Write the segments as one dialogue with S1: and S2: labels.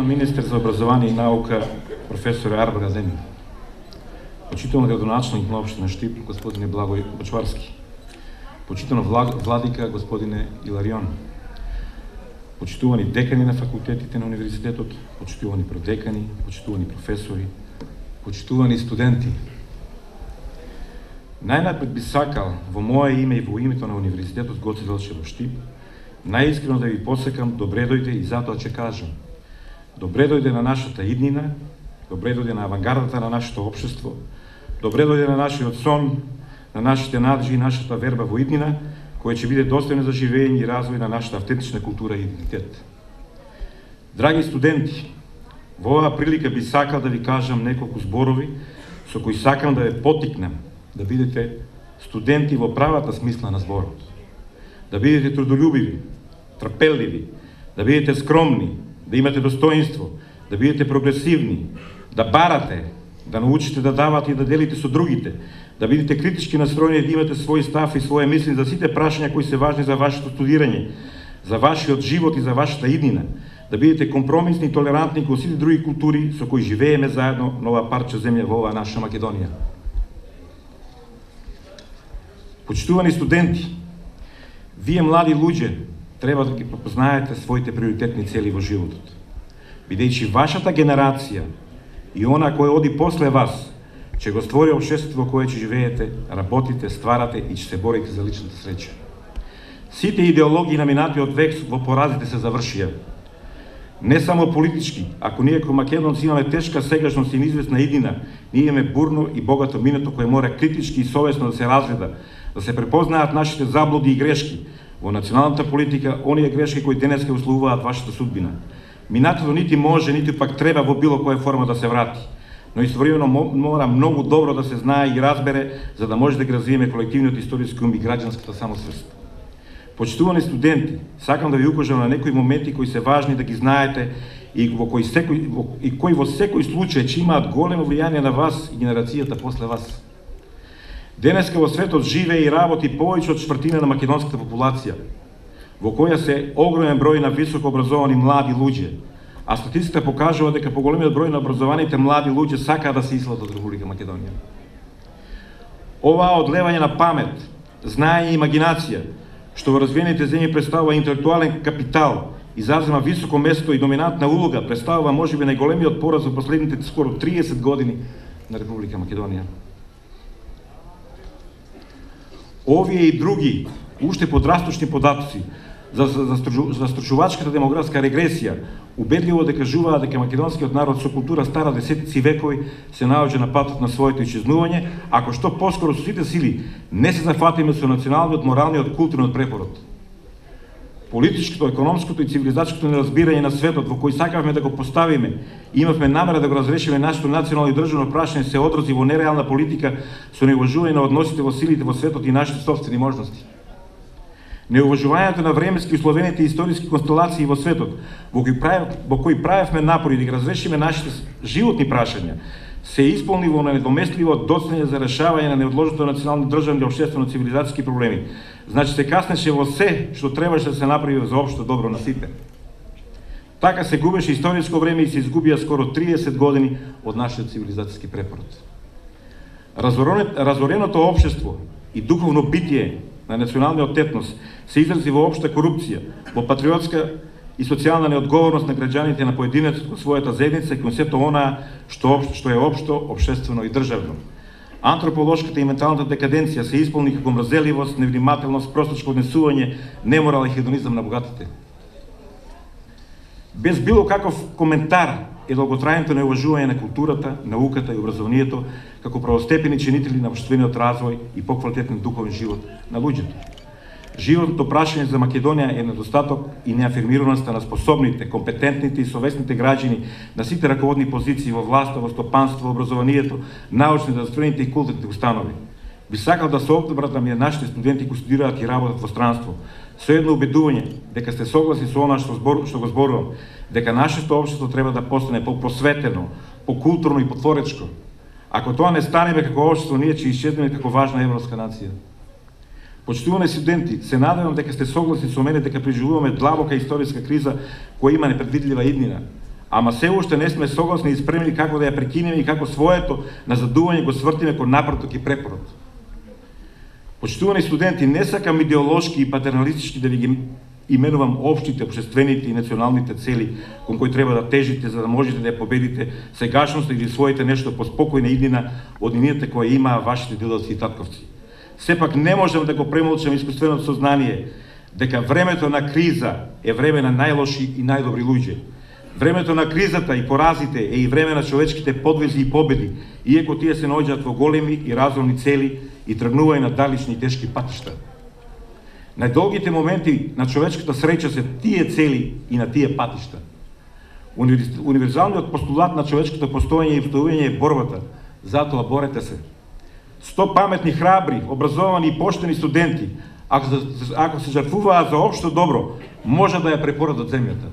S1: Министер за образование и наука професор Арбар Адемин, почитуван градоначелник на општина Штип господине Благој Бочварски, почитуван владика господине Иларион, почитувани декани на факултетите на универзитетот, почитувани продекани, почитувани професори, почитувани студенти. Најнапред би сакал во мое име и во името на универзитетот Гоце Делчев во Штип најискрено да ви посекам добре дојде и затоа ќе кажам. Добре дојде на нашата иднина, добре дојде на авангардата на нашето општество, добре дојде на нашиот сон, на нашите наджи и нашата верба во иднина, која ќе биде достојна за живење и развој на нашата автентична култура и идентитет. Драги студенти, во оваа прилика би сакал да ви кажам неколку зборови со кои сакам да ве поттикнам да бидете студенти во правата смисла на зборот, да бидете трудолюбиви, трпеливи, да бидете скромни, да имате достоинство, да бидете прогресивни, да барате, да научите да давате и да делите со другите, да бидете критички настроени, да имате свој став и своје мисли за сите прашања кои се важни за вашето студирање, за вашиот живот и за вашата иднина, да бидете компромисни и толерантни кон сите други култури со кои живееме заедно на ова парче земја во оваа наша Македонија. Почитувани студенти, вие млади луѓе треба да ги препознаете своите приоритетни цели во животот, бидејќи вашата генерација и она која оди после вас ќе го створи општество во кое ќе живеете, работите, стварате и ќе се борите за личната среќа. Сите идеологии на минатиот век во поразите се завршија. Не само политички, ако ние како македонци имаме тешка сегашност и неизвестна иднина, ние имаме бурно и богато минато кое мора критички и совесно да се разгледа, да се препознаат нашите заблуди и грешки во националната политика, оние грешки кои денеска условуваат вашата судбина. Минатото нити може, нити пак треба во било која форма да се врати, но истовремено мора многу добро да се знае и разбере за да може да ги развиеме колективниот историски ум и граѓанската самосвест. Почитувани студенти, сакам да ви укажам на некои моменти кои се важни да ги знаете и кои во секој случај ќе имаат големо влијание на вас и генерацијата после вас. Денеска во светот живее и работи повеќе од четвртина на македонската популација, во која се огромен број на високо образовани млади луѓе, а статистиката покажува дека поголемиот број на образованите млади луѓе сакаат да се ислат од Република Македонија. Оваа одлевање на памет, знаење и имагинација, што во развиените земји представува интелектуален капитал и зазема високо место и доминантна улога, представува можеби најголемиот пораз во последните скоро 30 години на Република Македонија. Овие и други, уште подрасточни податоци за застрашувачката демографска регресија убедливо докажуваат дека македонскиот народ со култура стара десетици векови се наоѓа на патот на своето исчезнување, ако што поскоро со сите сили не се зафатиме со националниот, моралниот, културниот препород. Политичкото, економското и цивилизачкото неразбирање на светот во кој сакавме да го поставиме, имавме намера да го разрешиме нашето национално и државно прашање се одрази во нереална политика со неуважување на односите во силите во светот и нашите собствени можности. Неуважувањето на временски условените историски констелации во светот, во кои правевме напори да ги разрешиме нашите животни прашања, се исполни во недоместливо доцнење за решавање на неодложното национални, државни и општествено-цивилизацијски проблеми. Значи се каснеше во се што требаше да се направи за општо добро на сите. Така се губеше историско време и се изгубија скоро 30 години од нашиот цивилизацијски препород. Разореното општество и духовно битие на националниот етнос се изрази во општа корупција, во патриотска и социјална неодговорност на граѓаните на поединецот кон својата заедница и кон сето она што е општо, општествено и државно. Антрополошката и менталната декаденција се исполни како мрзеливост, невнимателност, простачко однесување, неморал и хедонизам на богатите. Без било каков коментар е долготрајното неуважување на културата, науката и образованието како правостепени чинители на општествениот развој и поквалитетен духовен живот на луѓето. Животното прашање за Македонија е недостаток и неафирмираноста на способните, компетентните и совесните граѓани на сите раководни позиции во власта, во стопанство, во образованието, научните, здравствените и културните установи. Би сакал да се обратам и на нашите студенти кои студираат и работат во странство, со едно убедување дека сте согласни со она што го зборувам, дека нашето општество треба да постане по-просветено, по-културно и потворечко. Ако тоа не станеме како општество, ние ќе исчезнеме како важна европска нација. Почитувани студенти, се надевам дека сте согласни со мене дека преживуваме длабока историска криза која има непредвидлива иднина, ама се уште не сме согласни и спремни како да ја прекинеме и како своето назадување го свртиме кон напреток и препорот. Почитувани студенти, не сакам идеолошки и патерналистички да ви ги именувам општите, општествените и националните цели кон кои треба да тежите за да можете да ја победите сегашноста или своите нешто поспокојна иднина од иднината која имаа вашите дедовци и татковци. Сепак не можам да го премолчам искуственото сознание дека времето на криза е време на најлоши и најдобри луѓе. Времето на кризата и поразите е и време на човечките подвизи и победи, иако тие се наоѓаат во големи и разумни цели и тргнуваат на далечни и тешки патишта. Најдолгите моменти на човечката среќа се тие цели и на тие патишта. Универзалниот постулат на човечкото постоење и постоење е борбата, затоа борете се. 100 паметни, храбри, образовани и поштени студенти, ако се жртвуваат за општо добро, може да ја препородат земјата.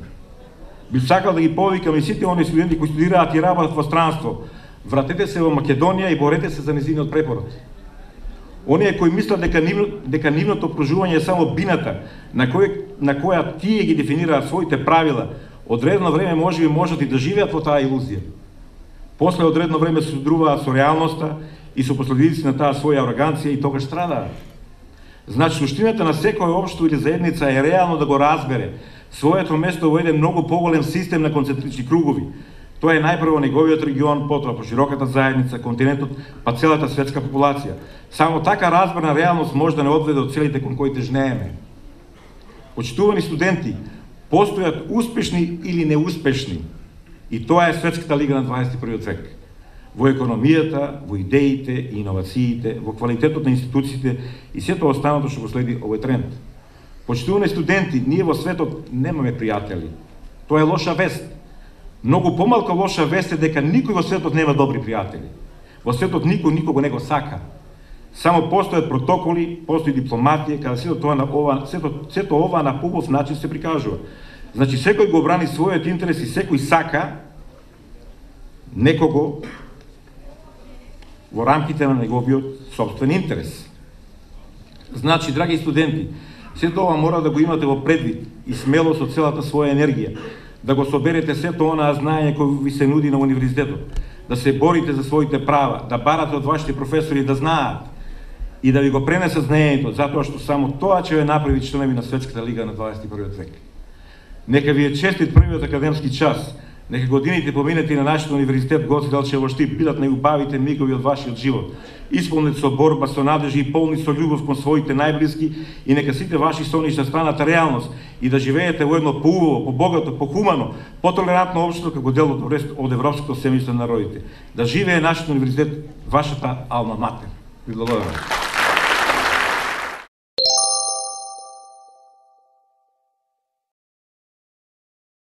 S1: Би сакал да ги повикам и сите оние студенти кои студираат и работат во странство, вратете се во Македонија и борете се за незиниот препород. Оние кои мислат дека нивното обкружување е само бината на која тие ги дефинираат своите правила, одредно време можат и да живеат во таа илузија. После одредно време се содруваат со реалноста и со последици на таа своја ароганција и тогаш страдаат. Значи, суштината на секој општество или заедница е реално да го разбере своето место во еден многу поголем систем на концентрични кругови. Тоа е најпрво неговиот регион, потоа по широката заедница, континентот, па целата светска популација. Само така разбрана реалност може да не одведе од целите кон кои тежнееме. Почитувани студенти, постојат успешни или неуспешни, и тоа е светската лига на 21 век. Во економијата, во идеите и иновациите, во квалитетот на институциите и сето останато што го следи овој тренд. Почитувани студенти, ние во светот немаме пријатели. Тоа е лоша вест. Многу помалку лоша вест е дека никој во светот нема добри пријатели. Во светот никој никого не го сака. Само постојат протоколи, постои дипломатија, каде сето ова на побав начин се прикажува. Значи, секој го брани својот интерес и секој сака некого во рамките на неговиот собствен интерес. Значи, драги студенти, сето ова мора да го имате во предвид и смело со целата своја енергија, да го соберете сето онаа знаење кој ви се нуди на универзитетот, да се борите за своите права, да барате од вашите професори да знаат и да ви го пренесат знаењето, затоа што само тоа ќе ве направи членови на Светската лига на 21 век. Нека ви е честит првиот академски час, нека годините поминати на нашиот универзитет Гоце Делчев Штип бидат најубавите мигови од вашиот живот, исполнети со борба, со надежи и полни со љубов кон своите најблиски, и нека сите ваши соништа станат реалност и да живеете во едно поубаво, побогато, похумано, потолерантно општество како дел од европското семејство на народите. Да живее нашиот универзитет, вашата алма матер. Ви благодарам.